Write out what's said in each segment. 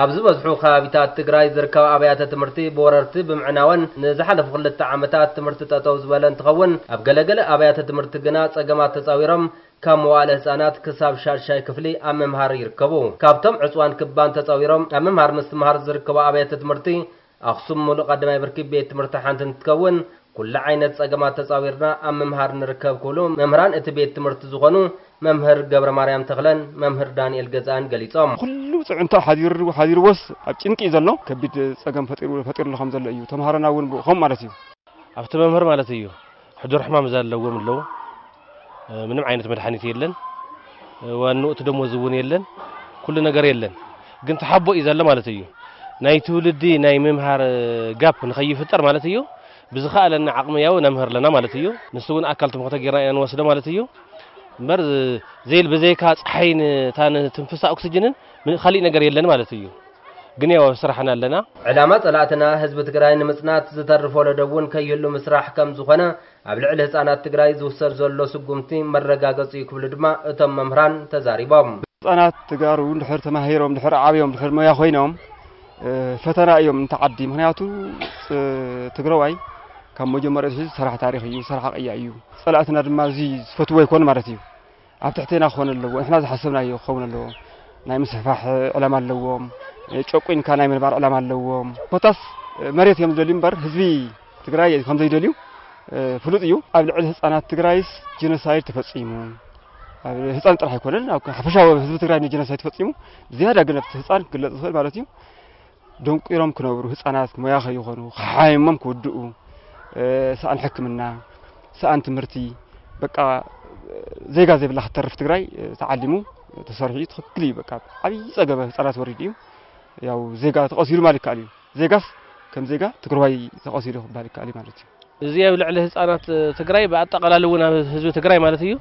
ኣብ ዝበዝሑ ከባቢታት ትግራይ ዝርከባ ኣብያተ ትምህርቲ ብወረርቲ ብምዕናወን ንዝሓለፉ ክልተ ዓመታት ትምህርቲ ጠጠው ዝበለ እንትኸውን፣ ኣብ ገለገለ ኣብያተ ትምህርቲ ግና ጸገማት ተጻዊሮም ካብ መዋእለ ህጻናት ክሳብ ሻድሻይ ክፍሊ ኣብ ምምሃር ይርከቡ። ካብቶም ዕጽዋን ክባን ተጻዊሮም ኣብ ምምሃር ምስትምሃር ዝርከቡ ኣብያተ ትምህርቲ ኣኽሱም ሙሉእ ቀዳማይ ብርኪ ቤት ትምህርቲ ሓንቲ እንትትከውን፣ ኩሉ ዓይነት ጸገማት ተጻዊርና ኣብ ምምሃር ንርከብ ክብሉ መምህራን እቲ ቤት ትምህርቲ ዝኾኑ መምህር ገብረ ማርያም ተኽለን መምህር ዳንኤል ገዛእን ገሊጾም። ኩሉ ጽዕንቶ ሓዲሩ-፣ ሓዲርዎስ ኣብ ጭንቂ እዩ ዘሎ። ከቢድ ጸገም ፈጢሩ-፣ ፈጢሩሉ ከም ዘሎ እዩ። ተምሃሮና እውን ብኡ ከምኡ ማለት እዩ። ኣብቲ መምህር ማለት እዩ። ሕዱር ሕማም ዘለዎም ኣለዉ። ምንም ዓይነት መድሓኒት የለን። ዋንኡ እቲ ደሞዝ እውን የለን። ኩሉ ነገር የለን። ግን ተሓቦ እዩ ዘሎ ማለት እዩ። ናይ ትውልዲ ናይ ምምሃር ጋፕ ንኸይፍጠር ማለት እዩ። ብዝኸኣለና ዓቕሚ ያው ነምህር ኣለና ማለት እዩ። ንሱ እውን ኣካል ትምክሕቲ ጌርና ኢና ንወስዶ ማለት እዩ። እምበር ዘይል ብዘይካ ፀሓይን እታ ንትንፍሳ ኦክስጅንን ምን-፣ ካሊእ ነገር የለን ማለት እዩ። ግን ያው ኣብ ስራሕና ኣለና። ዕላማ ጸላእትና ህዝቢ ትግራይ ንምጽናት ዝተርፍ ወለዶ እውን ከይህሉ ምስራሕ ከም ዝኾነ ኣብ ልዕሊ ህጻናት ትግራይ ዝውሰድ ዘሎ ስጉምቲ መረጋገጺ እዩ ክብሉ ድማ እቶም መምህራን ተዛሪቦም። ህጻናት ተጋሩ እንድሕር ተማሂሮም፣ እንድሕር ዓብዮም፣ እንድሕር ሞያ ኮይኖም፣ እ፣ ፈተና እዮም እንተ ዓዲ። ምኽንያቱ፣ እ፣ ትግራዋይ ካብ መጀመርያ ኣትሒዙ ሰራሕ ታሪኽ እዩ፣ ሰራሕ ቅያ እዩ። ጸላእትና ድማ እዚ ዝፈትዎ ኣይኮን ማለት እዩ። ኣብ ትሕቴና ክኾን ኣለዎ፣ ንሕና ዝሓሰብናዮ ክኸውን ኣለዎ። ናይ ምስፍፋሕ ዕላማ ኣለዎም፣ ጨቁንካ ናይ ምንባር ዕላማ ኣለዎም። ኮታስ መሬት እዮም ዝደልዩ እምበር ህዝቢ ትግራይ ከም ዘይደልዩ ፍሉጥ እዩ። ኣብ ልዕሊ ህፃናት ትግራይስ ጀኖሳይድ ተፈፂሙ፣ ኣብ ህፃን ጥራሕ ኣይኮነን፣ ኣብ ሓፈሻዊ ህዝቢ ትግራይ ጀኖሳይድ ተፈፂሙ። ብዝያዳ ግን ኣብቲ ህፃን ክግለፅ ዝኽእል ማለት እዩ። ደንቂሮም ክነብሩ፣ ህፃናት ሞያ ከይኾኑ፣ ክሓይሞም ክውድኡ፣ እ፣ ሰኣን ሕክምና፣ ሰኣን ትምህርቲ፣ በቃ፣ እ፣ ዜጋ ዘይብላ ክትተርፍ ትግራይ፣ እ፣ ተዓሊሙ፣ እ፣ ተሰሪሑ እዩ። ትኽክል እዩ። በቃ፣ ዓብዪ ፀገበ ህፃናት ወሪዱ እዩ። ያው ዜጋ ተቐሲሉ ማለት ይከኣል እዩ። ዜጋስ ከም ዜጋ ትግራዋይ ተቐሲሉ ክበሃል ይከኣል እዩ ማለት እዩ። እዚ ኣብ ልዕሊ ህፃናት ትግራይ ብኣጠቓላሊ እውን ኣብ ህዝቢ ትግራይ ማለት እዩ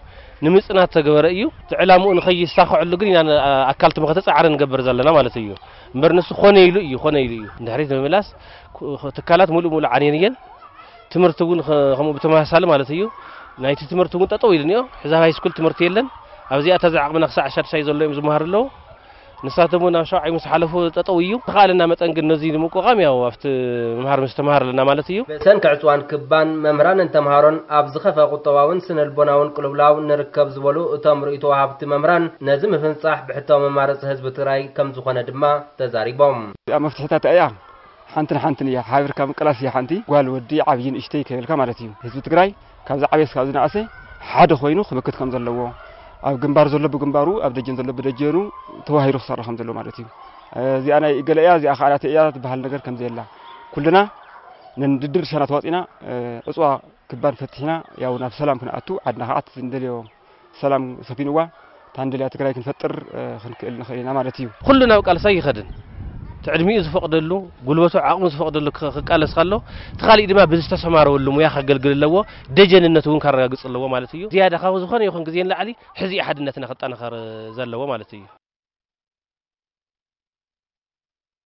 ንምፅናት ተገበረ እዩ። እቲ ዕላምኡ ንኸይሳኽዐሉ ግን ኢና ን-፣ ኣካል ትምክሕቲ ፃዕሪ ንገብር ዘለና ማለት እዩ። እምበር ንሱ ኮነ ኢሉ እዩ፣ ኮነ ኢሉ እዩ። ንድሕሪት ንምምላስ ኩ-፣ ትካላት ሙሉእ ሙሉእ ዓንየን እየን። ትምህርቲ እውን ኸ-፣ ከምኡ ብተመሳሳሊ ማለት እዩ። ናይቲ ትምህርቲ እውን ጠጠው ኢሉ እኒኦ። ሕዚ ኣብ ሃይስኩል ትምህርቲ የለን። ኣብዚኣ እታ ዝዓቕምና ክሳዕ ሻድሻይ ዘሎ እዮም ዝመሃሩ ኣለዉ። ንሳቶም እውን ኣብ ሻውዓይ ምስ ሓለፉ ጠጠው እዩ። ተኻእለና መጠን ግን ነዚ ንምቁቋም ያው ኣብቲ ምምሃር ምስትምሃር ኣለና ማለት እዩ። ብሰንኪ ዕፅዋን ክባን መምህራንን ተምሃሮን ኣብ ዝኸፈ ቁጠባውን ስነልቦናውን ቅልውላው ንርከብ ዝበሉ እቶም ርእይቶ ወሃብቲ መምህራን፣ ነዚ ምፍንፃሕ ብሕታዊ መማረፂ ህዝቢ ትግራይ ከም ዝኾነ ድማ ተዛሪቦም። እዚኣ መፍትሒታት እያ። ሓንቲ ንሓንትን እያ። ሓቢርካ ምቅላስ እያ ሓንቲ። ጓል ወዲ ዓብዪ ንእሽተይ ከይበልካ ማለት እዩ። ህዝቢ ትግራይ ካብ ዝዓበየ እስካብ ዝነኣሰ ሓደ ኮይኑ ክምክት ከም ዘለዎ፣ ኣብ ግንባር ዘሎ ብግንባሩ፣ ኣብ ደጀን ዘሎ ብደጀኑ ተዋሂዱ ክሰርሕ ከም ዘለዎ ማለት እዩ። እዚኣ ናይ ገለ እያ፣ እዚኣ ከዓ ናተይ እያ ትበሃል ነገር ከም ዘየላ፣ ኩልና ነንድድርሻና ተዋፂና፣ እ፣ ዕፅዋ ክባን ፈቲሕና፣ ያው ናብ ሰላም ክንኣቱ፣ ዓድና ከዓ እቲ እንደልዮ ሰላም ሰፊንዋ፣ እታ እንደልያ ትግራይ ክንፈጥር፣ እ፣ ክንክእል ንኽእል ኢና ማለት እዩ። ኩሉ ናብ ቃልሲ ኣይኸድን። እቲ ዕድሚኡ ዝፈቕደሉ፣ ጉልበቱ ዓቕሙ ዝፈቕደሉ ክ-፣ ክቃለስ ከሎ፣ እቲ ካሊእ ድማ ብዝተሰማረወሉ ሙያ ከገልግል ኣለዎ፣ ደጀንነቱ እውን ከረጋግፅ ኣለዎ ማለት እዩ። ዝያዳ ካብ ዝኾነ ይኹን ግዜ ንላዕሊ ሕዚ እዩ ሓድነትና ክጠናኸር ዘለዎ ማለት እዩ።